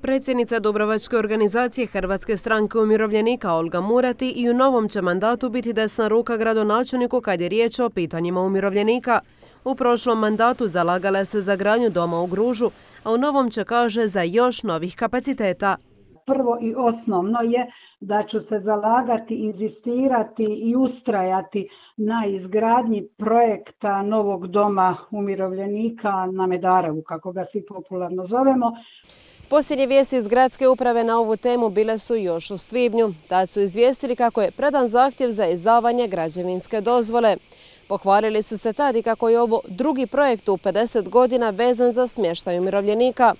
Predsjednica Dubrovačke organizacije Hrvatske stranke umirovljenika Olga Murati i u novom će mandatu biti desna ruka gradonačelniku kad je riječ o pitanjima umirovljenika. U prošlom mandatu zalagala se za gradnju doma u Gružu, a u novom će, kaže, za još novih kapaciteta. Prvo i osnovno je da ću se zalagati, inzistirati i ustrajati na izgradnji projekta novog doma umirovljenika na Medarevu, kako ga svi popularno zovemo. Posljednje vijesti iz gradske uprave na ovu temu bile su još u svibnju. Tad su izvijestili kako je predan zahtjev za izdavanje građevinske dozvole. Pohvalili su se tad i kako je ovo drugi projekt u 50 godina vezan za smještaj umirovljenika.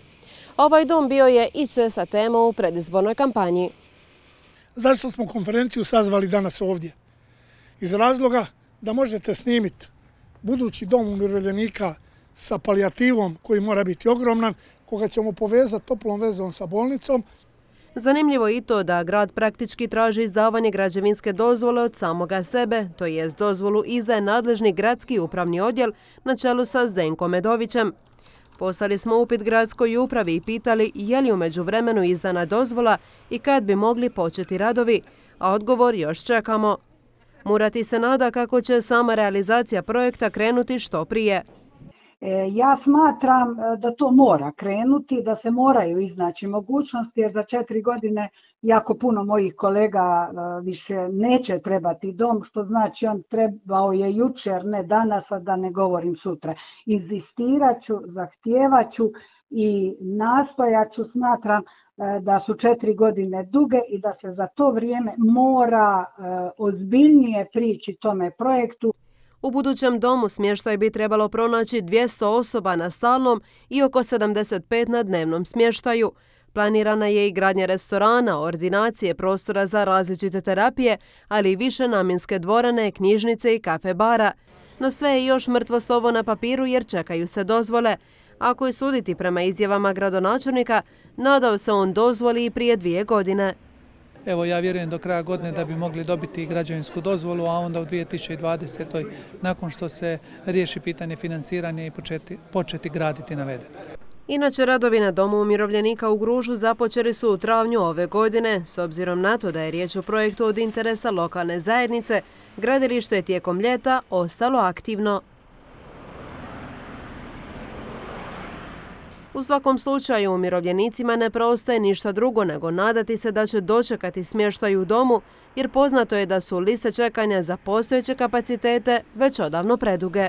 Ovaj dom bio je i česta tema u predizbornoj kampanji. Zašto smo konferenciju sazvali danas ovdje? Iz razloga da možete snimiti budući dom umirovljenika sa palijativom koji mora biti ogroman, koga ćemo povezati toplom vezom sa bolnicom. Zanimljivo je i to da grad praktički traži izdavanje građevinske dozvole od samoga sebe, to jest dozvolu izdaje nadležni gradski upravni odjel na čelu sa Zdenkom Medovićem. Poslali smo upit gradskoj upravi i pitali je li u međuvremenu izdana dozvola i kad bi mogli početi radovi, a odgovor još čekamo. Murati se nada kako će sama realizacija projekta krenuti što prije. Ja smatram da to mora krenuti, da se moraju iznaći mogućnosti, jer za 4 godine jako puno mojih kolega više neće trebati dom, što znači on trebao je jučer, ne danas, a da ne govorim sutra. Inzistirat ću, zahtijevat ću i nastojat ću, smatram da su 4 godine duge i da se za to vrijeme mora ozbiljnije prići tome projektu. U budućem domu smještaj bi trebalo pronaći 200 osoba na stalnom i oko 75 na dnevnom smještaju. Planirana je i gradnja restorana, ordinacije, prostora za različite terapije, ali i više namjenske dvorane, knjižnice i kafe bara. No sve je još mrtvo slovo na papiru jer čekaju se dozvole. Ako je suditi prema izjavama gradonačelnika, nadao se on dozvoli i prije 2 godine. Evo, ja vjerujem do kraja godine da bi mogli dobiti građevinsku dozvolu, a onda u 2020. nakon što se riješi pitanje financiranja i početi graditi navedeno. Inače, radovi na domu umirovljenika u Gružu započeli su u travnju ove godine. S obzirom na to da je riječ o projektu od interesa lokalne zajednice, gradilište je tijekom ljeta ostalo aktivno. U svakom slučaju, umirovljenicima ne preostaje ništa drugo nego nadati se da će dočekati smještaj u domu, jer poznato je da su liste čekanja za postojeće kapacitete već odavno preduge.